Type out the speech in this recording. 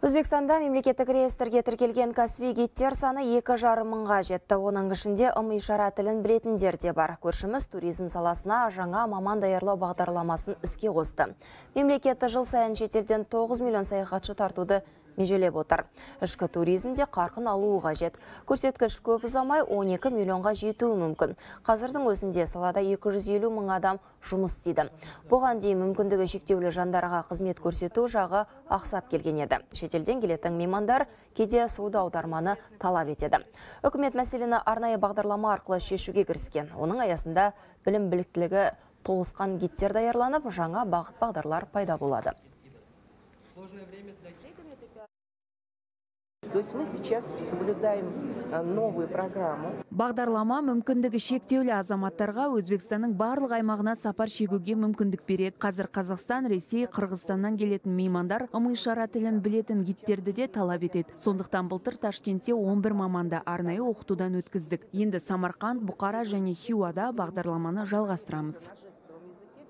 Өзбекстанда мемлекеттік реестрге тіркелген кәсіби гидтер саны 2,5 мыңға жетті. Оның ішінде ым-ишара тілін білетіндер де бар. Көршіміз туризм саласына жаңа маман даярлау бағдарламасын іске қосты. Мемлекеті жыл сайын шетелден 9 миллион саяхатшы тартуды межелеп отыр. Ішкі туризмде қарқын алуы қажет. Көрсеткіш көп ұзамай 12 миллионға жетуі мүмкін. Қазірдің өзінде салада 250 мың адам жұмыс істейді. Бұған дейін мүмкіндігі шектеулі жандарға қызмет көрсету жағы ақсап келген еді. Шетелден келетін меймандар кейде суды аударманы талап етеді. Үкімет мәселені арнайы бағдарлама арқылы шешуге кіріскен. Оның аясында білім біліктілігі толысқан гидтер даярланып, жаңа бағыт бағдарлар пайда болады. То есть мы сейчас соблюдаем новую программу. Бағдарлама мүмкіндігі шектеулі азаматтарға Өзбекстанның барлық аймағына сапар шегуге мүмкіндік береді. Қазір Қазақстан, Ресей, Қырғызстаннан келетін меймандар ым-ишара тілін білетін гидтерді де талап етеді. Сондықтан былтыр Ташкентте 11 маманды арнайы оқытудан өткіздік. Енді Самарқанд, Бұқара және Хиуада бағдарламаны жалғастырамыз.